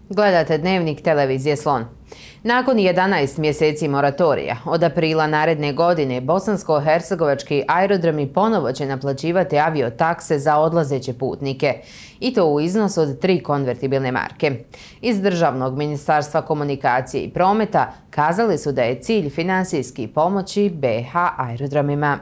Gledate Dnevnik televizije Slon. Nakon 11 mjeseci moratorija, od aprila naredne godine bosansko-hercegovački aerodromi ponovo će naplaćivati aviotakse za odlazeće putnike, i to u iznosu od 3 konvertibilne marke. Iz Državnog ministarstva komunikacije i prometa kazali su da je cilj finansijski pomoći BiH aerodromima.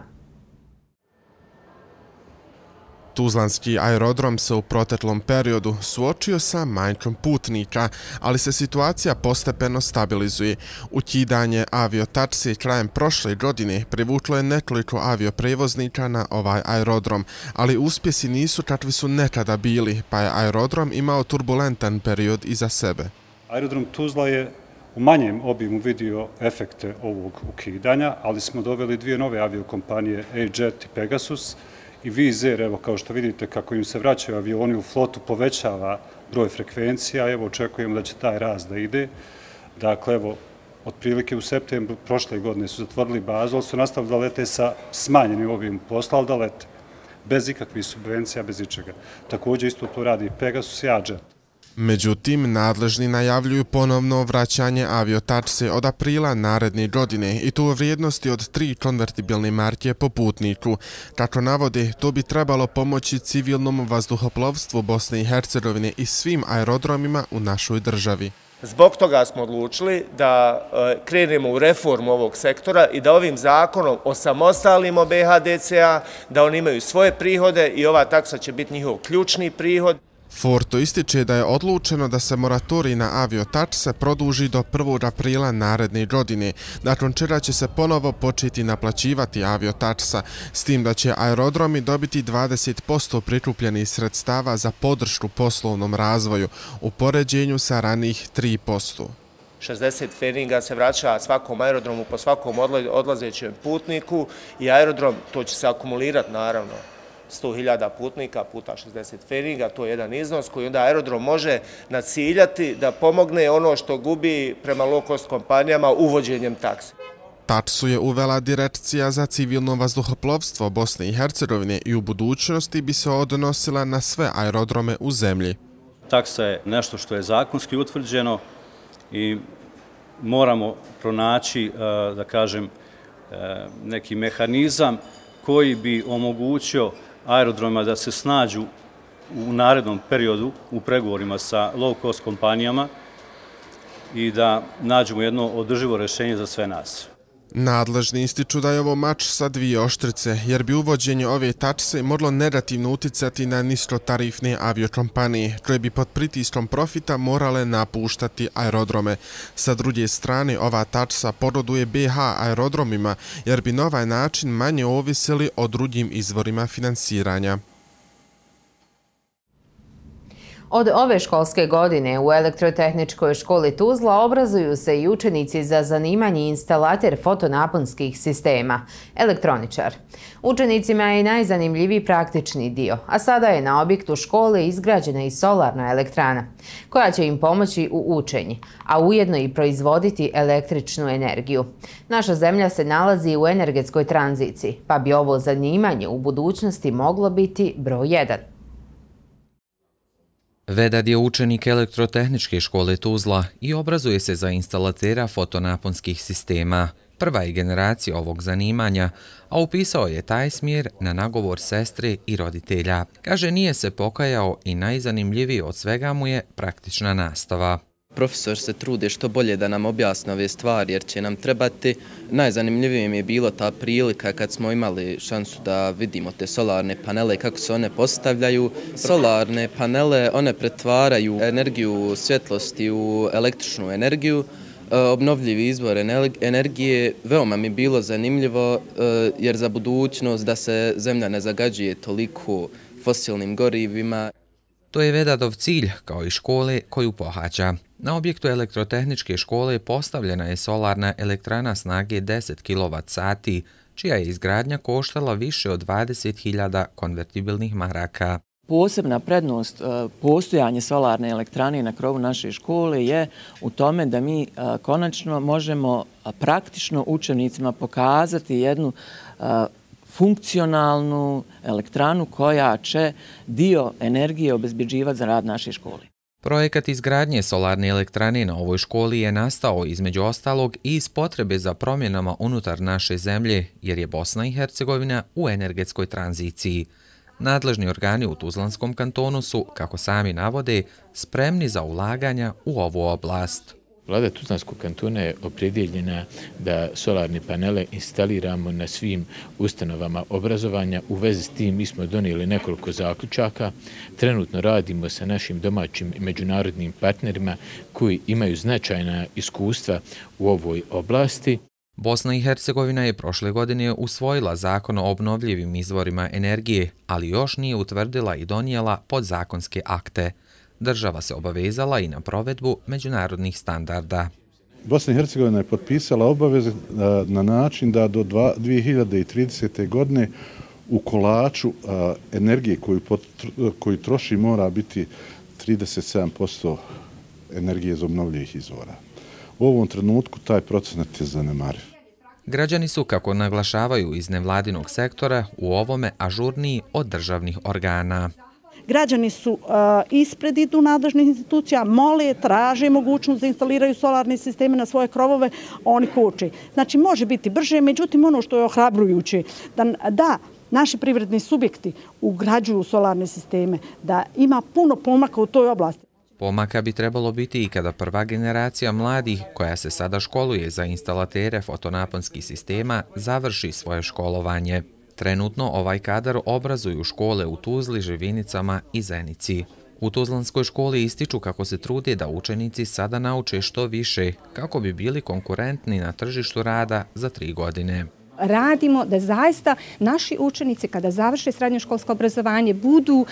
Tuzlanski aerodrom se u proteklom periodu suočio sa manjkom putnika, ali se situacija postepeno stabilizuje. Ukidanje aviotaksi krajem prošle godine privuklo je nekoliko avioprevoznika na ovaj aerodrom, ali uspjesi nisu kakvi su nekada bili, pa je aerodrom imao turbulentan period iza sebe. Aerodrom Tuzla je u manjem obimu vidio efekte ovog ukidanja, ali smo doveli 2 nove aviokompanije, A-Jet i Pegasus, i Wizz Air, evo kao što vidite kako im se vraćaju avioni u flotu, povećava broj frekvencija, evo očekujemo da će taj rast da ide. Dakle, evo, otprilike u septembru prošle godine su zatvorili bazu, ali su nastavili da lete sa smanjenim obimom posla, ali da lete bez ikakvih subvencija, bez ičega. Također isto to radi Pegasus i A-Jet. Međutim, nadležni najavljuju ponovno vraćanje aviotakse od aprila naredne godine i to u vrijednosti od 3 konvertibilne marke po putniku. Kako navode, to bi trebalo pomoći civilnom vazduhoplovstvu Bosne i Hercegovine i svim aerodromima u našoj državi. Zbog toga smo odlučili da krenemo u reformu ovog sektora i da ovim zakonom osamostalimo BiH-DCA, da oni imaju svoje prihode i ova taksa će biti njihov ključni prihod. Forto ističe da je odlučeno da se moratorij na aviotakse produži do 1. aprila naredne godine, nakon čega će se ponovo početi naplaćivati aviotaksa, s tim da će aerodromi dobiti 20% prikupljenih sredstava za podršku poslovnom razvoju, u poređenju sa ranijih 3%. 60 feringa se vraća svakom aerodromu po svakom odlazećem putniku i aerodrom, to će se akumulirati naravno, 100.000 putnika puta 60 feringa, to je jedan iznos koji onda aerodrom može naciljati da pomogne ono što gubi prema low cost kompanijama uvođenjem takse. Taksu je uvela Direkcija za civilno vazduhoplovstvo Bosne i Hercegovine i u budućnosti bi se odnosila na sve aerodrome u zemlji. Taksa je nešto što je zakonski utvrđeno i moramo pronaći, da kažem, neki mehanizam koji bi omogućio aerodromima da se snađu u narednom periodu u pregovorima sa low cost kompanijama i da nađemo jedno održivo rješenje za sve nas. Nadležni ističu da je ovo mač sa 2 oštrice, jer bi uvođenje ove takse moglo negativno uticati na niskotarifne aviokompanije, koje bi pod pritiskom profita morale napuštati aerodrome. Sa druge strane, ova taksa pogoduje BiH aerodromima, jer bi na ovaj način manje ovisili o drugim izvorima finansiranja. Od ove školske godine u Elektrotehničkoj školi Tuzla obrazuju se i učenici za zanimanje instalater fotonaponskih sistema, elektroničar. Učenicima je najzanimljiviji praktični dio, a sada je na objektu škole izgrađena i solarna elektrana, koja će im pomoći u učenju, a ujedno i proizvoditi električnu energiju. Naša zemlja se nalazi u energetskoj tranziciji, pa bi ovo zanimanje u budućnosti moglo biti broj 1. Vedad je učenik Elektrotehničke škole Tuzla i obrazuje se za instalatera fotonaponskih sistema. Prva je generacija ovog zanimanja, a upisao je taj smjer na nagovor sestre i roditelja. Kaže, nije se pokajao i najzanimljivije od svega mu je praktična nastava. Profesor se trude što bolje da nam objasne ove stvari jer će nam trebati. Najzanimljivije mi je bilo ta prilika kad smo imali šansu da vidimo te solarne panele i kako se one postavljaju. Solarne panele, one pretvaraju energiju svjetlosti u električnu energiju, obnovljivi izvor energije. Veoma mi je bilo zanimljivo jer za budućnost da se zemlja ne zagađuje toliko fosilnim gorivima. To je Vedadov cilj, kao i škole koju pohađa. Na objektu Elektrotehničke škole postavljena je solarna elektrana snage 10 kWh, čija je izgradnja koštala više od 20.000 konvertibilnih maraka. Posebna prednost postojanja solarne elektrane na krovu naše škole je u tome da mi konačno možemo praktično učenicima pokazati jednu funkcionalnu elektranu koja će dio energije obezbeđivati za rad naše škole. Projekat izgradnje solarne elektrane na ovoj školi je nastao između ostalog i iz potrebe za promjenama unutar naše zemlje, jer je Bosna i Hercegovina u energetskoj tranziciji. Nadležni organi u Tuzlanskom kantonu su, kako sami navode, spremni za ulaganja u ovu oblast. Vlada Tuzlanskog kantona je opredjeljena da solarne panele instaliramo na svim ustanovama obrazovanja. U vezi s tim mi smo donijeli nekoliko zaključaka. Trenutno radimo sa našim domaćim i međunarodnim partnerima koji imaju značajna iskustva u ovoj oblasti. Bosna i Hercegovina je prošle godine usvojila zakon o obnovljivim izvorima energije, ali još nije utvrdila i donijela podzakonske akte. Država se obavezala i na provedbu međunarodnih standarda. Bosna i Hercegovina je potpisala obaveze na način da do 2030. godine u kolaču energije koju troši mora biti 37% energije iz obnovljivih izvora. U ovom trenutku taj procenat je zanemariv. Građani su, kako naglašavaju iz nevladinog sektora, u ovome ažurniji od državnih organa. Građani su ispred idu nadležnih institucija, mole, traže mogućnost da instaliraju solarne sisteme na svoje krovove, oni koče. Znači, može biti brže, međutim, ono što je ohrabrujuće, da naši privredni subjekti ugrađuju solarne sisteme, da ima puno pomaka u toj oblasti. Pomaka bi trebalo biti i kada prva generacija mladih, koja se sada školuje za instalatere fotonaponskih sistema, završi svoje školovanje. Trenutno ovaj kadar obrazuju škole u Tuzli, Živinicama i Zenici. U Tuzlanskoj školi ističu kako se trude da učenici sada nauče što više, kako bi bili konkurentni na tržištu rada za 3 godine. Radimo da zaista naši učenici kada završe srednjoškolsko obrazovanje budu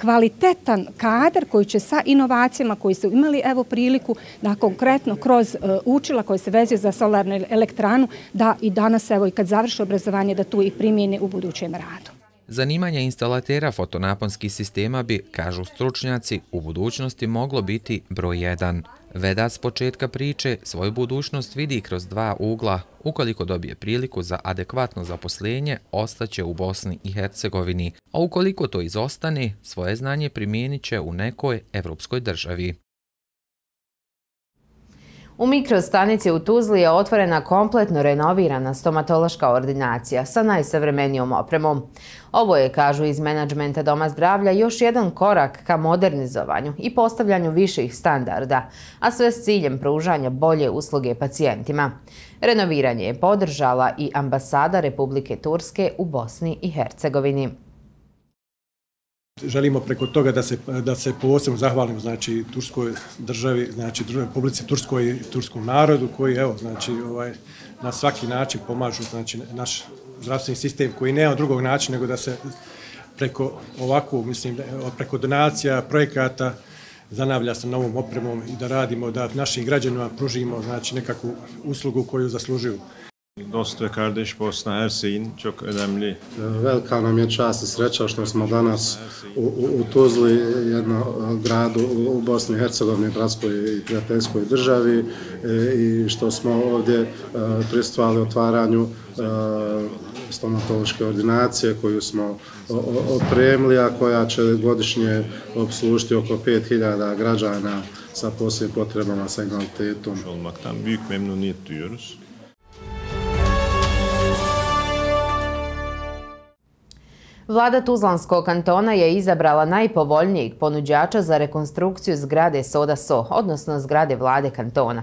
kvalitetan kadar koji će sa inovacijama koji su imali priliku da konkretno kroz učila koje se vezuju za solarnu elektranu da i danas i kad završe obrazovanje da tu i primjene u budućem radu. Zanimanje instalatera fotonaponskih sistema bi, kažu stručnjaci, u budućnosti moglo biti broj 1. Vedat s početka priče svoju budućnost vidi kroz 2 ugla. Ukoliko dobije priliku za adekvatno zaposlenje, ostaće u Bosni i Hercegovini, a ukoliko to izostane, svoje znanje primijenit će u nekoj evropskoj državi. U mikrostanici u Tuzli je otvorena kompletno renovirana stomatološka ordinacija sa najsavremenijom opremom. Ovo je, kažu iz menadžmenta Doma zdravlja, još jedan korak ka modernizovanju i postavljanju viših standarda, a sve s ciljem pružanja bolje usluge pacijentima. Renoviranje je podržala i ambasada Republike Turske u Bosni i Hercegovini. Želimo preko toga da se posebno zahvalimo znači turskoj državi, znači Republici Turskoj i turskom narodu koji na svaki način pomažu znači naš zdravstveni sistem koji nema drugog načina nego da se preko ovakvu preko donacija, projekata zanavlja sa novom opremom i da radimo da našim građanima pružimo znači nekakvu uslugu koju zaslužuju. Dost ve kardeş Bosna Hersek'in çok önemli. Velika nam je čast i sreća što smo danas u Tuzli, jednom gradu u Bosni i Hercegovini, bratskoj i prijateljskoj državi i što smo ovdje prisustvovali otvaranju stomatološke ordinacije koju smo opremili, a koja će godišnje obslužiti oko 5000 građana sa posebnim potrebama sa invaliditetom. Olmaktan büyük memnuniyet duyuyoruz. Vlada Tuzlanskog kantona je izabrala najpovoljnijeg ponuđača za rekonstrukciju zgrade Soda So, odnosno zgrade vlade kantona.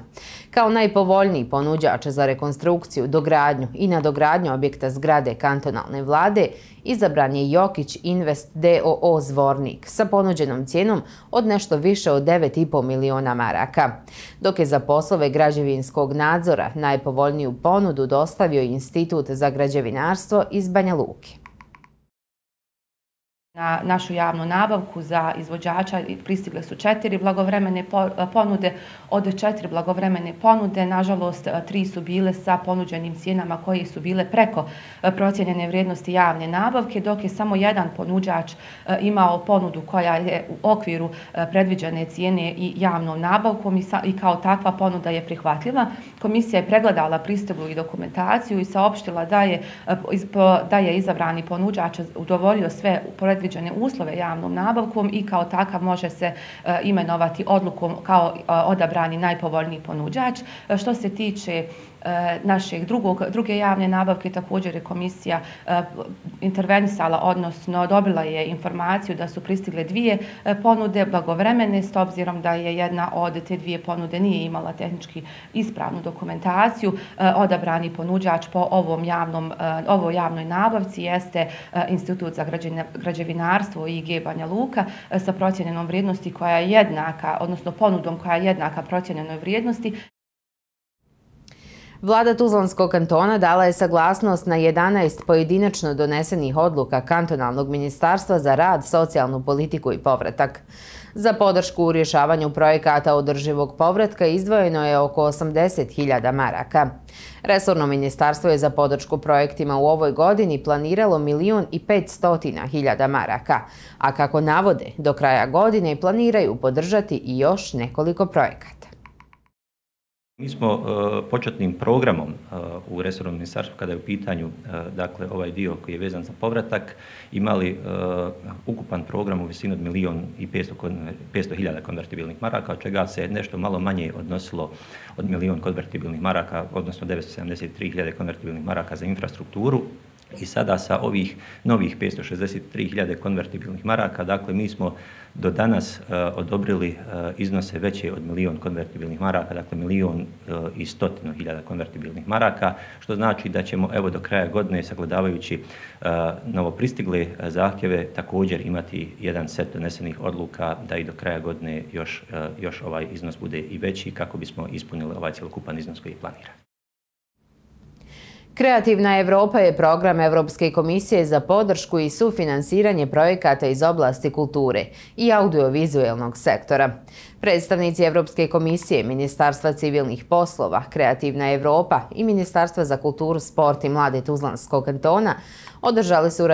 Kao najpovoljniji ponuđač za rekonstrukciju, dogradnju i nadogradnju objekta zgrade kantonalne vlade izabran je Jokić Invest DOO Zvornik sa ponuđenom cijenom od nešto više od 9,5 miliona maraka, dok je za poslove građevinskog nadzora najpovoljniju ponudu dostavio Institut za građevinarstvo iz Banja Luke. Na našu javnu nabavku za izvođača pristigle su 4 blagovremene ponude. Od 4 blagovremene ponude, nažalost, 3 su bile sa ponuđenim cijenama koje su bile preko procijenjene vrijednosti javne nabavke, dok je samo jedan ponuđač imao ponudu koja je u okviru predviđene cijene i javnom nabavkom i kao takva ponuda je prihvatljiva. Komisija je pregledala pristiglu i dokumentaciju i saopštila da je izabrani ponuđač udovoljio sve predviđene predviđene uslove javnom nabavkom i kao takav može se imenovati odlukom kao odabrani najpovoljniji ponuđač. Što se tiče druge javne nabavke, također je komisija intervenisala, odnosno dobila je informaciju da su pristigle dvije ponude blagovremene, s obzirom da je jedna od te dvije ponude nije imala tehnički ispravnu dokumentaciju. Odabrani ponuđač po ovoj javnoj nabavci jeste Institut za građevinarstvo IG Banja Luka sa procijenjenom vrijednosti koja je jednaka, odnosno ponudom koja je jednaka procijenjenoj vrijednosti. Vlada Tuzlanskog kantona dala je saglasnost na 11 pojedinačno donesenih odluka Kantonalnog ministarstva za rad, socijalnu politiku i povratak. Za podršku u rješavanju projekata održivog povratka izdvojeno je oko 80.000 maraka. Resorno ministarstvo je za podršku projektima u ovoj godini planiralo 1.500.000 maraka, a kako navode, do kraja godine planiraju podržati i još nekoliko projekata. Mi smo početnim programom u resornom ministarstvu, kada je u pitanju dakle, ovaj dio koji je vezan za povratak, imali ukupan program u visini od 1.500.000 konvertibilnih maraka, od čega se nešto malo manje odnosilo od 1.000.000 konvertibilnih maraka, odnosno 973.000 konvertibilnih maraka za infrastrukturu. I sada sa ovih novih 563.000 konvertibilnih maraka, dakle mi smo do danas odobrili iznose veće od 1.000.000 konvertibilnih maraka, dakle 1.100.000 konvertibilnih maraka, što znači da ćemo evo do kraja godine, sagledavajući novopristigle zahtjeve, također imati jedan set donesenih odluka da i do kraja godine još ovaj iznos bude i veći kako bismo ispunili ovaj cjelokupan iznos koji je planiran. Kreativna Evropa je program Evropske komisije za podršku i sufinansiranje projekata iz oblasti kulture i audiovizualnog sektora. Predstavnici Evropske komisije, Ministarstva civilnih poslova, Kreativna Evropa i Ministarstva za kulturu, sport i mlade Tuzlanskog kantona održali su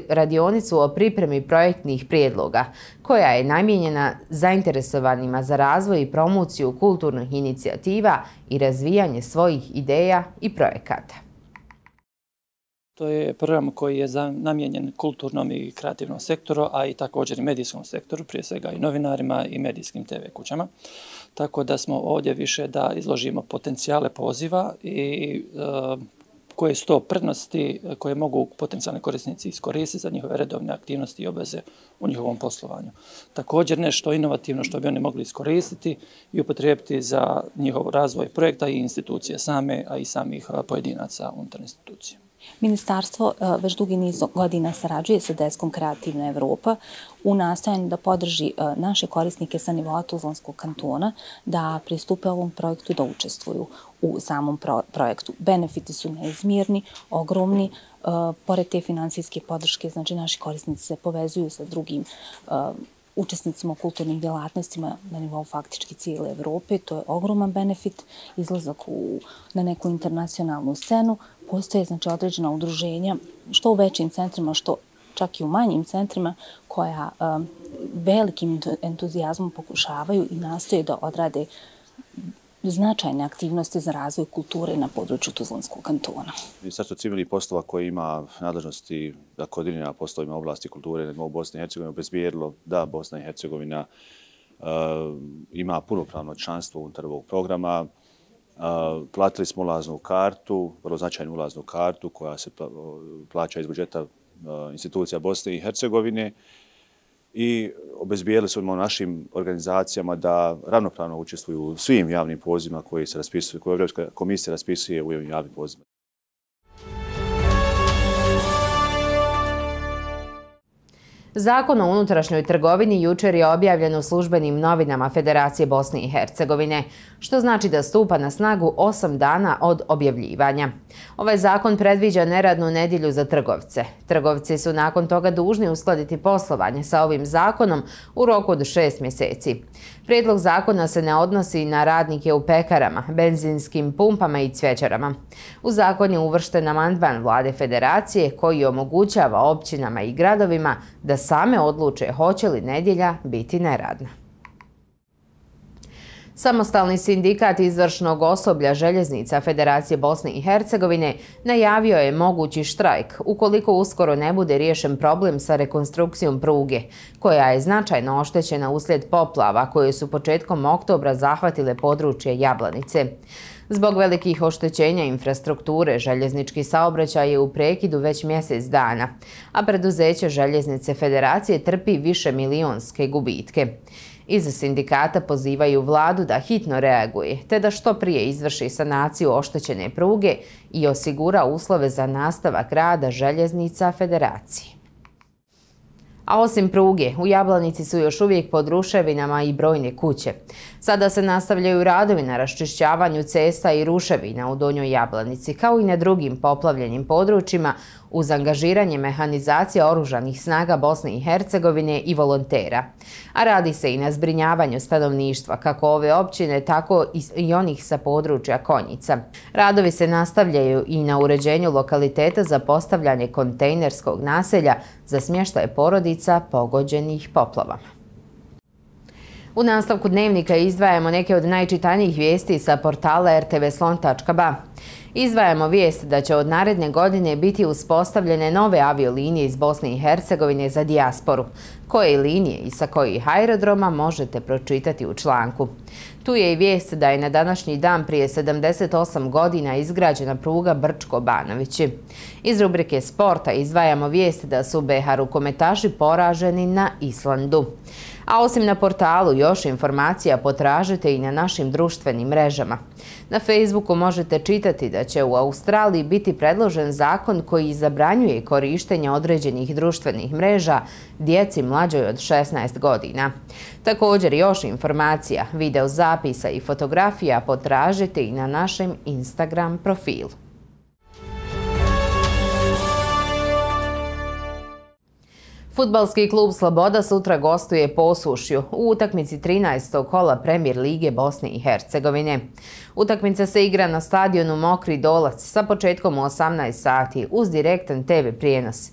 radionicu o pripremi projektnih prijedloga, koja je namijenjena zainteresovanima za razvoj i promociju kulturnih inicijativa i razvijanje svojih ideja i projekata. To je program koji je namijenjen kulturnom i kreativnom sektoru, a i također i medijskom sektoru, prije svega i novinarima i medijskim TV kućama. Tako da smo ovdje više da izložimo potencijale poziva i koje su to prednosti koje mogu potencijalni korisnici iskoristiti za njihove redovne aktivnosti i obveze u njihovom poslovanju. Također nešto inovativno što bi oni mogli iskoristiti i upotrijebiti za njihov razvoj projekta i institucije same, a i samih pojedinaca unutar institucije. Ministarstvo već dugi niz godina sarađuje sa deskom Kreativna Evropa u nastojanju da podrži naše korisnike sa nivoa Tuzlanskog kantona da pristupe ovom projektu i da učestvuju u samom projektu. Benefiti su neizmjerni, ogromni. Pored te finansijske podrške, znači naši korisnici se povezuju sa drugim učesnicima u kulturnim djelatnostima na nivou faktički cijele Evrope. To je ogroman benefit, izlazak na neku internacionalnu scenu. Postoje znači određena udruženja, što u većim centrima, što čak i u manjim centrima, koja velikim entuzijazmom pokušavaju i nastoje da odrade značajne aktivnosti za razvoj kulture na području Tuzlanskog kantona. Ministarstvo civilnih poslova koje ima nadležnosti da koordinira poslovima oblasti kulture na nivou Bosne i Hercegovine obezbijedilo da Bosna i Hercegovina ima punopravno članstvo unutar ovog programa. Platili smo ulaznu kartu, vrlo značajnu ulaznu kartu koja se plaća iz budžeta institucija Bosne i Hercegovine i obezbijedili smo našim organizacijama da ravnopravno učestvuju u svim javnim pozivima koji se raspisuju, koje Evropska komisija raspisuje u ovim javnim pozivima. Zakon o unutrašnjoj trgovini jučer je objavljen u službenim novinama Federacije Bosne i Hercegovine, što znači da stupa na snagu 8 dana od objavljivanja. Ovaj zakon predviđa neradnu nedjelju za trgovce. Trgovci su nakon toga dužni uskladiti poslovanje sa ovim zakonom u roku od 6 mjeseci. Prijedlog zakona se ne odnosi na radnike u pekarama, benzinskim pumpama i cvjećarama. U zakon je uvršten amandman Vlade Federacije koji omogućava općinama i gradovima da same odluče hoće li nedjelja biti neradna. Samostalni sindikat izvršnog osoblja željeznica Federacije Bosne i Hercegovine najavio je mogući štrajk ukoliko uskoro ne bude riješen problem sa rekonstrukcijom pruge, koja je značajno oštećena uslijed poplava koje su početkom oktobra zahvatile područje Jablanice. Zbog velikih oštećenja infrastrukture, željeznički saobraćaj je u prekidu već mjesec dana, a preduzeće Željeznice Federacije trpi višemilionske gubitke. Iz sindikata pozivaju vladu da hitno reaguje, te da što prije izvrši sanaciju oštećene pruge i osigura uslove za nastavak rada Željeznica Federacije. A osim pruge, u Jablanici su još uvijek pod ruševinama i brojne kuće. Sada se nastavljaju radovi na raščišćavanju cesta i ruševina u Donjoj Jablanici, kao i na drugim poplavljenim područjima, uz angažiranje mehanizacije oružanih snaga Bosne i Hercegovine i volontera. A radi se i na zbrinjavanju stanovništva, kako ove općine, tako i onih sa područja Konjica. Radovi se nastavljaju i na uređenju lokaliteta za postavljanje kontejnerskog naselja za smještaj porodica pogođenih poplavama. U nastavku dnevnika izdvajamo neke od najčitanijih vijesti sa portala rtvslon.ba. Izdvajamo vijest da će od naredne godine biti uspostavljene nove aviolinije iz Bosne i Hercegovine za dijasporu. Koje linije i sa kojih aerodroma možete pročitati u članku. Tu je i vijest da je na današnji dan prije 78 godina izgrađena pruga Brčko-Banovići. Iz rubrike sporta izdvajamo vijest da su BiH rukometaši poraženi na Islandu. A osim na portalu, još informacija potražite i na našim društvenim mrežama. Na Facebooku možete čitati da će u Australiji biti predložen zakon koji zabranjuje korištenje određenih društvenih mreža djeci mlađoj od 16 godina. Također još informacija, video zapisa i fotografija potražite i na našem Instagram profilu. Fudbalski klub Sloboda sutra gostuje Posušju u utakmici 13. kola Premijer lige Bosne i Hercegovine. Utakmica se igra na stadionu Mokri Dolac sa početkom u 18 sati uz direktan TV prijenos.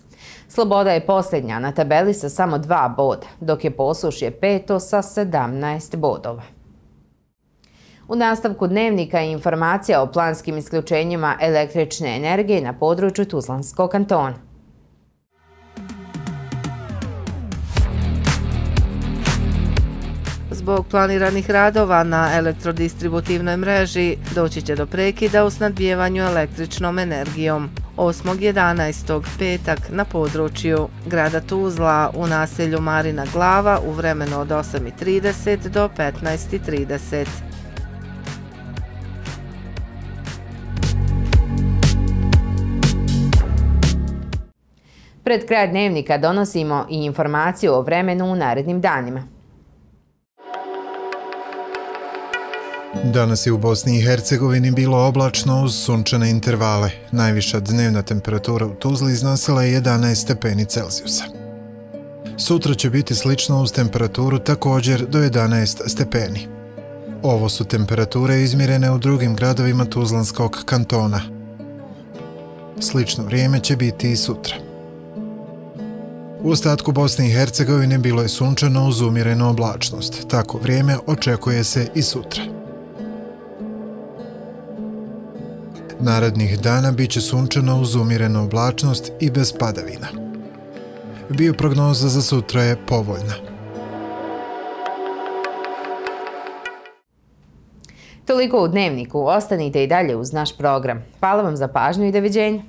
Sloboda je posljednja na tabeli sa samo 2 boda, dok je Posušje peto sa 17 bodova. U nastavku dnevnika je informacija o planskim isključenjima električne energije na području Tuzlanskog kantona. Zbog planiranih radova na elektrodistributivnoj mreži doći će do prekida u snabdijevanju električnom energijom. 8.11. petak na području grada Tuzla u naselju Marina Glava u vremenu od 8.30 do 15.30. Pred kraj dnevnika donosimo i informaciju o vremenu u narednim danima. Danas je u Bosni i Hercegovini bilo oblačno uz sunčane intervale. Najviša dnevna temperatura u Tuzli iznosila je 11 stepeni Celzijusa. Sutra će biti slično uz temperaturu također do 11 stepeni. Ovo su temperature izmjerene u drugim gradovima Tuzlanskog kantona. Slično vrijeme će biti i sutra. U ostatku Bosne i Hercegovine bilo je sunčano uz umjerenu oblačnost. Tako vrijeme očekuje se i sutra. Narednih dana bit će sunčano uz umjerenu oblačnost i bez padavina. Bioprognoza za sutra je povoljna. Toliko u dnevniku. Ostanite i dalje uz naš program. Hvala vam za pažnju i doviđenja.